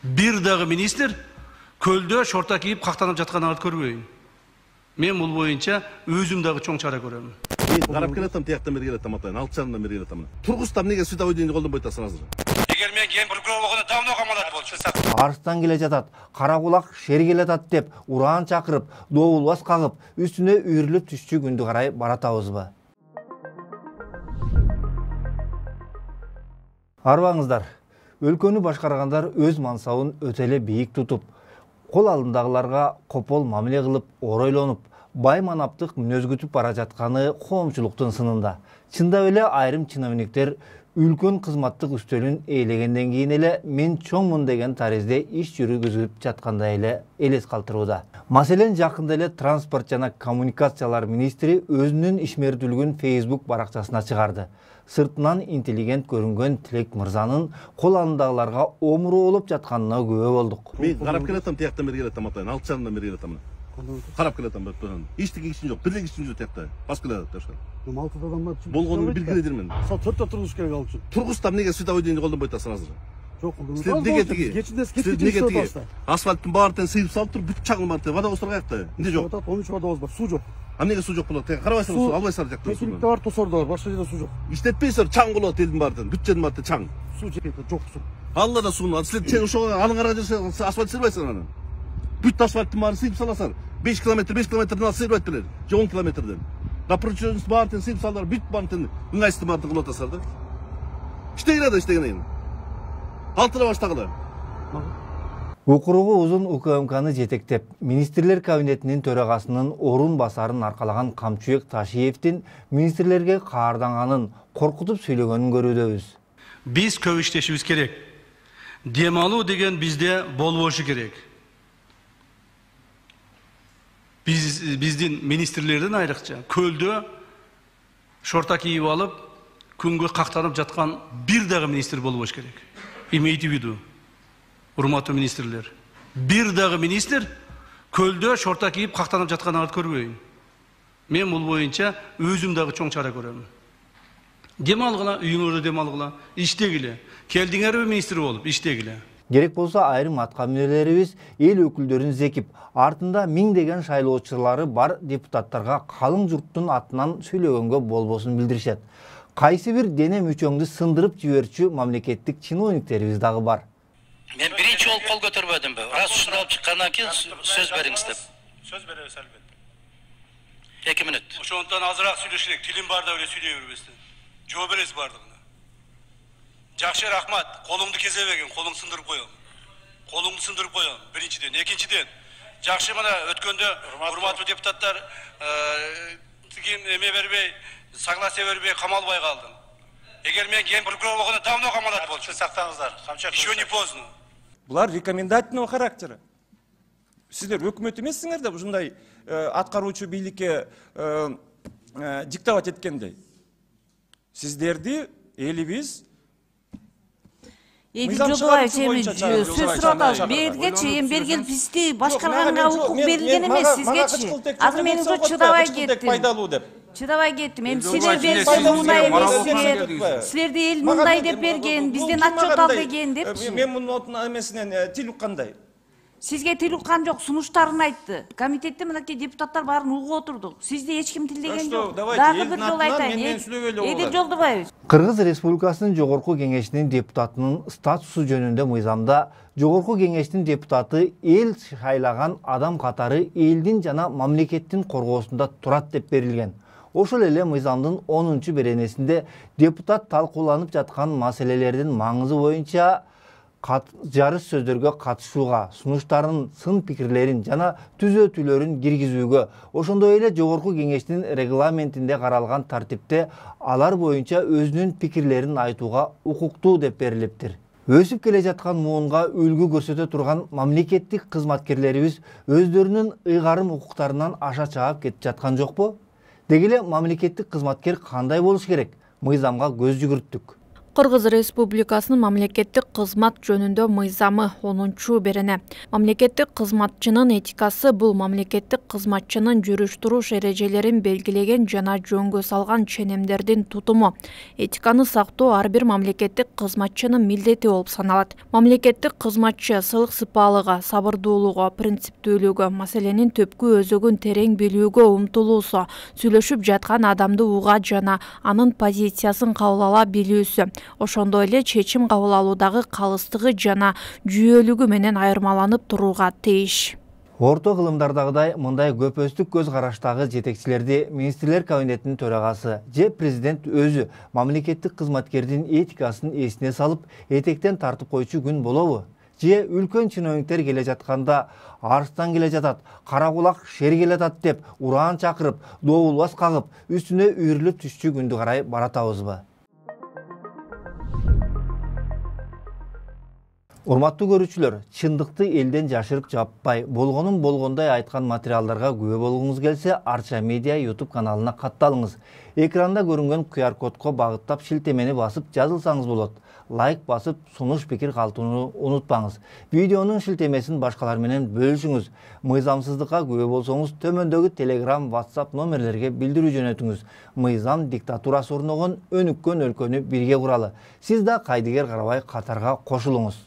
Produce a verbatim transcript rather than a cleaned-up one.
Бир дагы министр көлдө шорта кийип кактанып жатканыңарды көрбөйм. Мен бул боюнча өзүм дагы чоң чара көрөм. Мен карап келатам, тияктан бери келатам атайын, алты жарымдан бери келатам. Тургузтан эмнеге световой дейинди колдонбой атасың азыр? Эгер мен кен прокурор болгондо давно камалат болчу. Арыстан келе жатат, кара кулак шер келе жатат деп ураан чакырып, добулбас кагып, үстүнө үйрүлүп түшчү күндү карай баратабызбы? Арбаңыздар, өлкөнү башкаргандар өз мансабын өтө эле бийик тутуп, кол алдындагыларга копол мамиле кылып, оройлонуп, бай манаптык мүнөз күтүп бара жатканы коомчулуктун сынында. Чындап эле айрым чиновниктер үлкөн кызматтык үстөлүн ээлегенден кийин эле мен чоңмун деген таризде иш жүргүзүп жаткандай эле элес калтырууда. Маселен, жакында эле транспорт жана коммуникациялар министри өзүнүн ишмердүүлүгүн Facebook баракчасына чыгарды. Сыртынан интеллигент көрүнгөн Тилек мырзанын кол алдындагыларга омуру болуп жатканына күбө болдук. Мен карап келатам, тияктан бери келатам атайын, алты жарымдан бери келатам. Карап келатам, эчтеке ишим жок, бир эле ишим жок тиякта. Басып келатат ташка. алтыда адам бар. Болгонун билгиледирмен. Сал төрттө тургуз керек ал үчүн. Тургузтан эмнеге световой дейинди колдонбой атасың азыр? Жок, силер неге тиги? Кечинде неге тиги? Асфальттын баарын сыйып салып туруп, бүт чагылып барты. Водовоздор каякта? Эмне жок? он үч водовоз бар, суу жок. А эмнеге суу жок болот? Карабайсыңбы, суу албайсыңар жакта. Кечиликте бар, тосордо бар, башка жерде суу жок. Иштетпейсиңер, чаң болот элдин баардын, бүт жердин баары чаң. Суу жетпейт, жок суу. Алла да сууну, силер чең ошого алыңарга жүрсө асфальт сыйбайсыңар аны. Бүт асфальттын баарын сыйып саласыңар. беш километр, беш километрден алып сыйбайт белер. Же он километрден. Напрочун баарын сыйып салдар, бүт баарын ыңгайсыздын баарын кылып атасыңар да. Иштегиле да иштегенен. Алтыра баштагыла. Укуругу узун УКМКны жетектеп, министрлер кабинетинин төрагасынын орун басарын аркалаган Камчыбек Ташиевдин министрлерге каарданганын, коркутуп сүйлөгөнүн көрүүдөбүз. Биз көп иштешибиз керек. Дем алуу деген бизде болбошу керек. Биз биздин министрлерден айрыкча көлдө шорта кийип алып, күнгө кактанып жаткан бир дагы министр болбош керек. Имейте в виду, урматтуу министрлер. Бир дагы министр көлдө шорта кийип кактанып жатканыңарды көрбөйм. Мен бул боюнча өзүм дагы чоң чара көрөм. Дем алгыла, үйүңөрдө дем алгыла, иштегиле. Келдиңерби министр болуп, иштегиле. Керек болсо айрым атка мүнөлөрүбүз эл өкүлдөрүн зекип, артында миңдеген шайлоочулары бар депутаттарга калың журттун атынан сүйлөгөнгө болбосун билдиришет. Кайсы бир дене мүчөңдү сындырып жиберчү мамлекеттик чиновниктерибиз дагы бар. Мен биринчи болуп кол көтөрбөдүмбү? Раз ушуну алып чыккандан кийин сөз бериңиз деп. Сөз беребиз албетте. эки мүнөт. Ошондон азыраак сүйлөш керек. Тилим барда эле сүйлөй бербестен. Жооп бересиз бардыгына. Жакшы, рахмат. Колуңду кезебегин, колуңду сындырып коем. Колуңду сындырып коем. Биринчиден, экинчиден. Жакшы, мына өткөндө урматтуу депутаттар тигин эме бербей, согласие бербей камалбай калдым. Эгер мен ген прокурор болгондо давно камалат болчу. Сактаңыздар. Еще не поздно. Булар рекомендательного характера. Сиздер өкмөт эмессиңер да ушундай аткаруучу бийликке диктовать эткендей. Сиздерди элибиз Эки Жолдубаев сөз сурап атабыз. Бергечи, эми бергел бизди башкарганга укук берилген эмес сизгечи. Азыр мен уже чыдабай кеттим. Чыдабай кеттим. Эми силер берсе мындай эмессиңер. Силерди эл мындай деп берген, бизден отчет ал деген депчи. Мен мунун эмесинен тил уккандай. Сизге тил уккан жок, сунуштарын айтты. Комитетте мынакей депутаттар баарын угуп отурдук. Сизди эч ким тилдеген жок. Дагы бир жолу айтайын. Эдил Жолдубаев. Кыргыз Республикасынын Жогорку Кеңешинин депутатынын статусу жөнүндө мыйзамда Жогорку Кеңештин депутаты эл шайлаган адам катары элдин жана мамлекеттин коргоосунда турат деп берилген. Ошол эле мыйзамдын онунчу беренесинде депутат талкууланып жаткан маселелердин маңызы боюнча жарыш сөздөргө катышууга, сунуштарын, сын пикирлерин жана түзөтүүлөрүн киргизүүгө, ошондой эле Жогорку Кеңештин регламентинде каралган тартипте алар боюнча өзүнүн пикирлерин айтууга укуктуу деп берилиптир. Өсүп келе жаткан муунга үлгү көрсөтө турган мамлекеттик кызматкерлерибиз өздөрүнүн ыйгарым укуктарынан аша чаап кетип жаткан жокпу? Деги эле мамлекеттик кызматкер кандай болуш керек? Мыйзамга көз жүгүрттүк. Кыргыз Республикасынын мамлекеттик кызмат жөнүндө мыйзамы онунчу берене. Мамлекеттик кызматчынын этикасы бул мамлекеттик кызматчынын жүрүш-туруш эрежелерин белгилеген жана жөнгө салган ченемдердин тутуму. Этиканы сактоо ар бир мамлекеттик кызматчынын милдети болуп саналат. Мамлекеттик кызматчы сылык сыпаалыгы, сабырдуулугу, принциптүүлүгү, маселенин түпкү өзөгүн терең билүүгө умтулуусу, сүйлөшүп жаткан адамды уга жана анын позициясын кабыл ала билүүсү, ошондой эле чечим кабыл алуудагы калыстыгы жана жүйөлүгү менен айырмаланып турууга тийиш. Орто кылымдардагыдай мындай көпөстүк көз караштагы жетекчилерди министрлер кабинетинин төрагасы же президент өзү мамлекеттик кызматкердин этикасын эсине салып, этектен тартып койчу күн болобу? Же үлкөн чиновниктер келе жатканда арстан келе жатат, кара кулак шер келе жатат деп ураан чакырып, добулбас кагып, үстүнө үйрүлүп түшчү күндү карай баратабызбы? Урматтуу көрүүчүлөр, чындыкты элден жашырып жаппай, болгонун болгондой айткан материалдарга күбө болгуңуз келсе, Арча Медиа YouTube каналына катталыңыз. Экранда көрүнгөн ку ар кодко багыттап шилтемени басып жазылсаңыз болот. Лайк басып, сунуш пикир калтырууну унутпаңыз. Видеонун шилтемесин башкалар менен бөлүшүңүз. Мыйзамсыздыкка күбө болсоңуз, төмөндөгү Telegram, WhatsApp номерлерге билдирүү жөнөтүңүз. Мыйзам диктатурасы орногон өнүккөн өлкөнү бирге куралы. Сиз да кайдыгер карабай катарга кошулуңуз.